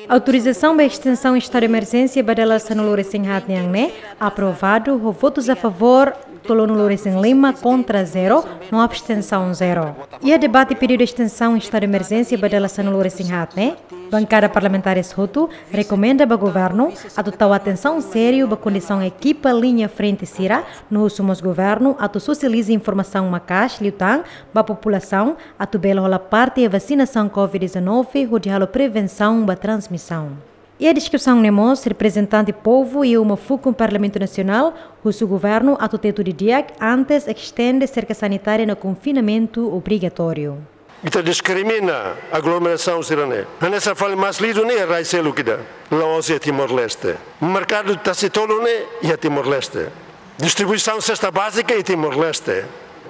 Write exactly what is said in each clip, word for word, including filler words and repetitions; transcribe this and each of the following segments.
Autorizasaun ba estensaun estadu de emerjénsia ba dala sanulu-resin-haat nian ne'e aprovadu ho votus a favór tolunulu-resin-lima, kontra zero, no abstensaun zero. Iha debate pedidu estensaun estadu de emerjénsia ba dala sanulu-resin-haat ne'e, bankada parlamentares hotu rekomenda ba governu atu tau atensaun sériu ba kondisaun ekipa liña frente sira, no husu mós governu atu sosializa informasaun maka'as liután ba populasaun atu bele hola parte iha vasinasaun covid dezanove hodi halo prevensaun ba transmisaun. Iha diskusaun ne'e mós, reprezentante povu iha uma fukun Parlamentu Nasionál husu governu atu tetu didi'ak antes estende serka sanitária no konfinamentu obrigatóriu. Ita diskrimina aglomerasaun sira-ne'e. Hanesan fali Maslidu ne'e rai seluk ida, la'ós iha Timor-Leste. Merkadu Tasitolu ne'e iha Timor-Leste. Distribuisaun sesta bázika iha Timor-Leste.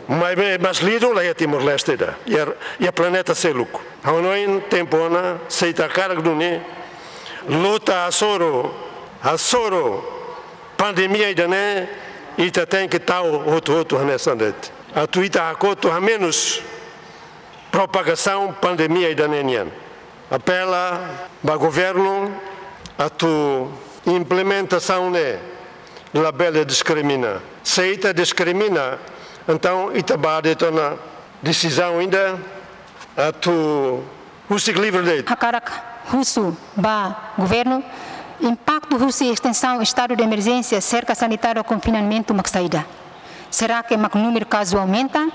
Maibé Maslidu la iha Timor-Leste ida. Iha, iha planeta seluk. Ha'u hanoin tempu ona, se ita hakarak duni luta hasoru, hasoru pandemia ida-ne'e, ita tenke tau hotu-hotu hanesan de'it. Atu ita hakotu hamenus propagasaun pandemia ida-ne'e nian. Apela ba governu atu implementasaun ne'e labele diskrimina. Se ita diskrimina, entaun ita ba de'it ona desizaun ida atu husik livre de'it. Hakarak husu ba governu, impaktu husi estensaun estadu de emerjénsia, serka sanitária, konfinamentu mak saida? Será que mak númeru kazu aumenta?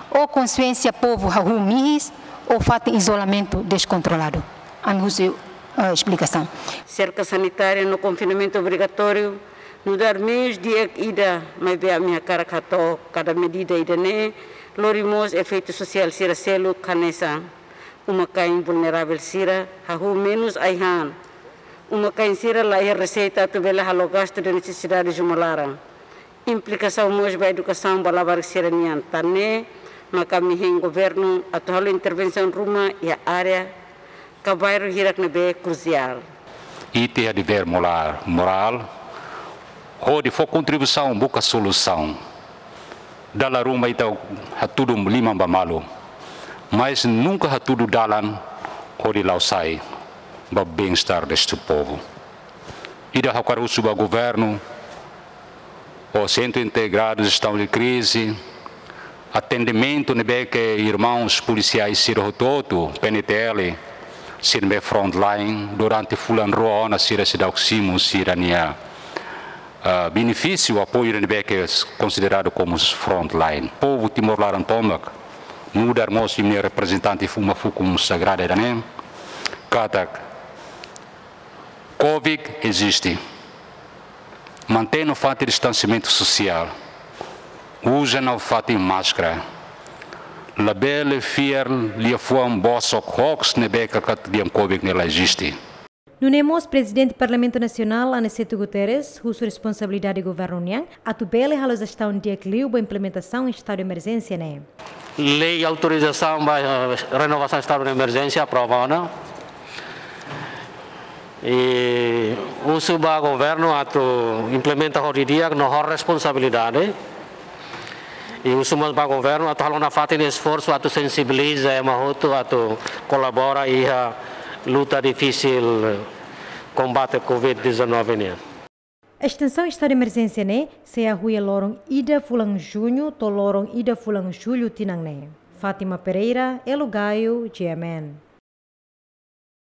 Ou konsiénsia povu hahú mihis? Ou fatin izolamentu deskontroladu? Ami husu, eh, esplikasaun. Serka sanitária no konfinamentu obrigatóriu nu'udar meius di'ak ida, maibé ami hakarak hato'o kada medida ida-ne'e lori mós efeitu sosiál sira seluk hanesan uma-kain vulneravel sira hahú menus ai-han. Uma-kain sira la iha reseita atu bele halo gastu de nesesidade de uma laran. Implikasaun mós ba edukasaun ba labarik sira-nian. Tan ne'e maka ami hein governu atu halo intervensaun ruma iha área ka bairru hirak ne'ebé krusiál. Ita iha devér moral, morál hodi fó kontribuisaun buka solusaun. Dala ruma ita hatudu liman ba malu, mas nunka hatudu dalan hodi la'o sai ba bem-estar deste povo. Ida ha'u hakarak husu ba governu, ou Centro Integrado de Gestão de Crise, atendimentu ne'ebé ke irmãos polisiais sira hotu-hotu, P N T L, sira ne'ebé frontline, durante fulan rua ona sira seidauk simu sira-nia, ah, benefísiu, apoiu ne'ebé ke konsideradu komu frontline. Povu Timor laran tomak, nu'udar mós imi-nia reprezentante iha uma fukun sagrada ida-ne'e, katak covid eziste. Mantein nafatin distansiamentu sosiál. Uza nafatin máskara. Labele fiar liafuan bosok hoax ne'ebé katak di'ak covid ne'e la eziste. Nune'e mós Prezidente Parlamentu Nasionál, Aniceto Guterres, husu responsabilidade governu nian atu bele halo jestaun di'ak liu ba implementasaun estadu de emerjénsia ne'e. Lei autorizasaun ba, eh, renovasaun estadu de emerjénsia aprova ona. I husu ba governu atu implementa ho di'ak no ho responsabilidade. I husu mós ba governu atu halo nafatin esforsu atu sensibiliza ema hotu atu kolabora iha luta difisil kombate covid dezanove nian. Estensaun estadu de emerjénsia ne'e sei hahú iha loron ida fulan Juñu to'o loron ida fulan Jullu tinan ne'e. Fátima Pereira, Elo Gaio, G M N.